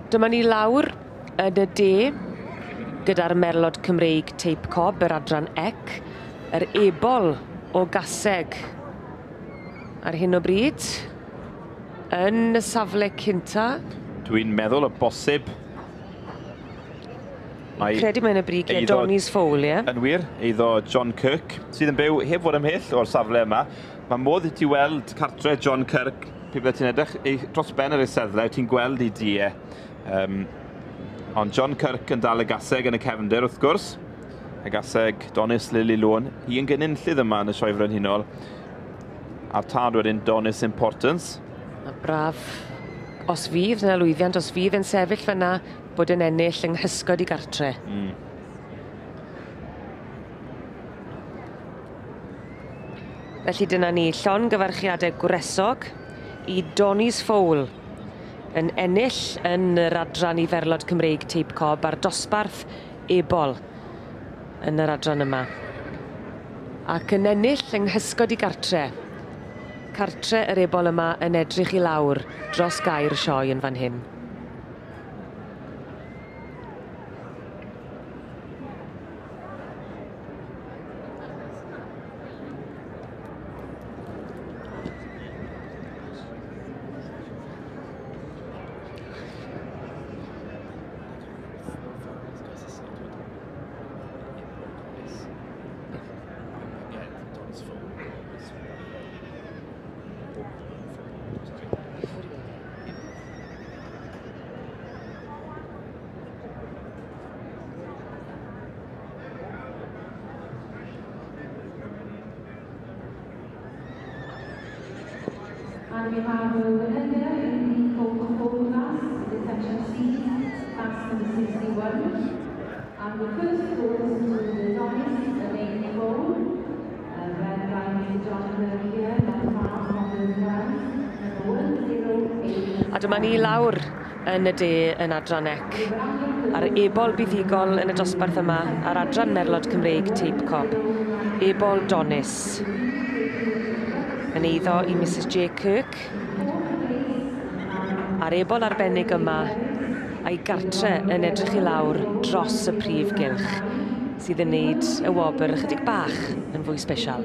Dyma ni lawr yn y de gyda'r merlod Cymreig teip cob, yr adran ec, yr ebol o gaseg ar hyn o bryd yn y safle cynta. Dwi'n meddwl o bosib. Mae credu mae'n y brigiau Donny's Fowl, ie? Yn wir, eiddo John Kirk, sydd yn byw heb fod ymhell o'r safle yma. Mae modd i ti weld cartre John Kirk, pe bydde ti'n edrych dros ben yr eisteddle, ti'n gweld ei dŷ e. Ond John Kirk yn dal y gaseg yn y cefndir, wrth gwrs. Y gaseg Donis Lily Lôn, hi yn gynullydd yma yn y Sioe Frenhinol. A'r tad wedyn Donis Importance. A braf, os fydd yna lwyddiant, os fydd yn sefyll fyna, bod yn ennill yng nghysgod i gartre. Felly dyna ni, llongyfarchiadau gwresog i Donny's Fowl yn ennill yn yr adran i Ferlod Cymreig Teip Cob a'r dosbarth ebol yn yr adran yma. Ac yn ennill yng nghysgod i gartre. Cartre yr ebol yma yn edrych i lawr dros gair sioe yn fan hyn. And we have a winner here in the Coca-Cola class, the section C, class number 61. And the first goes to the Donis Elaine Cole, led by Mr. John Kirk here, not far from the ground, number 108. A dyma ni lawr yn y de yn adran ec, a'r ebol buddugol yn y dosbarth yma, a'r adran Merlod Cymreig Teip Cob, Ebol Donis, yn eiddo i Mrs J Kirk, a'r ebol arbennig yma a'i gartre yn edrych i lawr dros y prif gylch, sydd yn neud y wobr ychydig bach yn fwy sbesial.